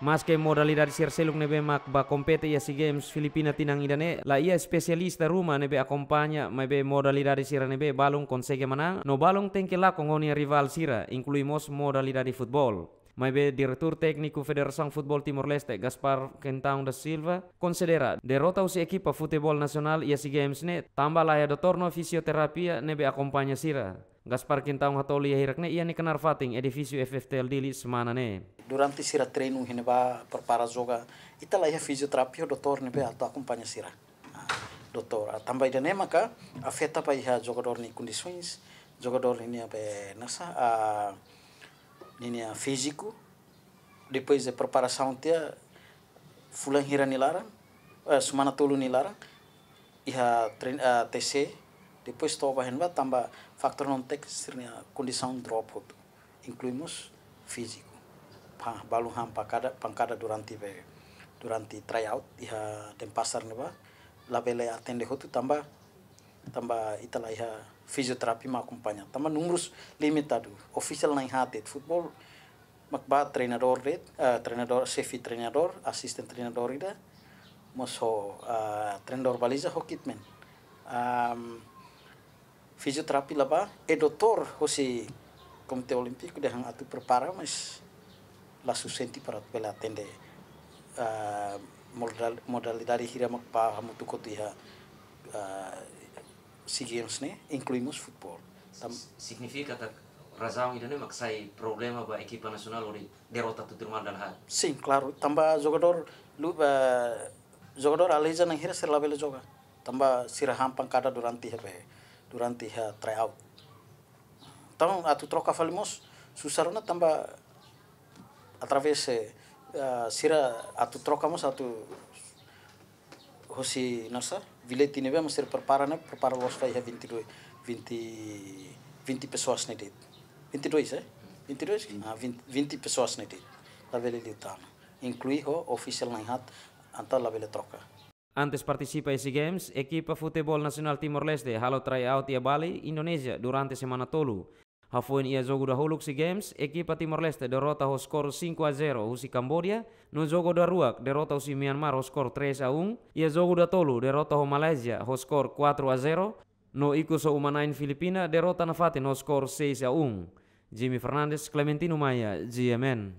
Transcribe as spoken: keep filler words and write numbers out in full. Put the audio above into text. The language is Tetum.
Maske modalidade sira seluk ne'ebé mak bá kompete iha SEA Games Filipina tinan ida-ne'e la iha espesialista ruma ne'ebé akompaña, maibé modalidade sira ne'ebé balun konsege manán, no balun tenke lakon ho nia rivál sira, inklui mós modalidade futeból. Maibé Diretór Tékniku Federasaun Futeból Timor-Leste, Gaspar Quintão da Silva, konsidera derrota husi ekipa futeból nasionál iha SEA Games ne'e tanba la iha doutór no fisioterapia ne'ebé akompaña sira. Gaspar Quintão hatoli iha hirak-ne'e iha nia knaar fatin edifísiu F F T L Dili semana ne'e. Durante sira treinu iha ne'ebá, prepara joga, ita la iha fisioterapia, doutór ne'ebé atu akompaña sira. Ah, doutór, ah, tanba ida-ne'e maka afeta ba iha jogadór nia kondisaun, jogadór nia be nasa, ah, ninia fíziku, depois de preparasaun tiha fulan hira nia laran, eh, semana tolu nia laran, iha trein-, eh, T C, depois to'o ba iha ne'ebá tanba fatór non-tékniku sira-nia kondisaun drop hotu, inklui mós fíziku. Pa, balun han pankada, pankada durante be, durante tryout, iha Denpasar ne'ebá, labele atende hotu tanba, tanba ita la iha fisioterapia mak akompaña. Tanba númerus limitadu, ofisiál na'in-haat de'it, futeból mak bá treinadór de'it, eh, treinadór, xefe treinadór, asistente treinadór ida, mós ho, eh, treinadór baliza ho kitman. Am, fisioterapia la bá, e doutór hosi Komité Olímpiku dehan atu prepara, mas la sufisiente para bele atende, eh, modal-, modalidade hira mak bá hamutuk hotu iha, eh, SEA Games ne'e, inklui mós futeból. Tam- Signifika katak razaun ida-ne'e mak sai problema ba ekipa nasionál hodi derrota tutur malu dala haat? Sin, klaru. Tanba jogadór lu-, eh, jogadór aleija na'in hira sira labele joga. Tanba sira han pankada durante iha be, durante iha tryout. Entaun, atu troka fali mós susar ona tanba através, eh, eh, sira atu troka mós atu hosi nasa, bilhete ne'ebé mak sira prepara ne'e, prepara loos ba iha vinte e dois, vinte, vinte pessoas ne'e de'it. Vinte e dois, eh? Vinte e dois? Ah, vinte, vinte pessoas ne'e de'it. Labele liután. Inklui ho ofisiál na'in-haat, entaun labele troka. Antes partisipa iha SEA Games, ekipa futeból nasionál Timor-Leste halo tryout iha Bali, Indonézia, durante semana tolu. Hafoin iha jogu dahuluk SEA Games, ekipa Timor-Leste derrota ho skor cinco a zero husi Kamboja, no jogu daruak derrota husi Myanmar ho skor três a um, iha jogu datolu derrota ho Malázia ho skor quatro a zero, no ikus ho uma-na'in Filipina derrota nafatin ho skor seis a um. Jimmy Fernandes, Clementino Maia, G M N.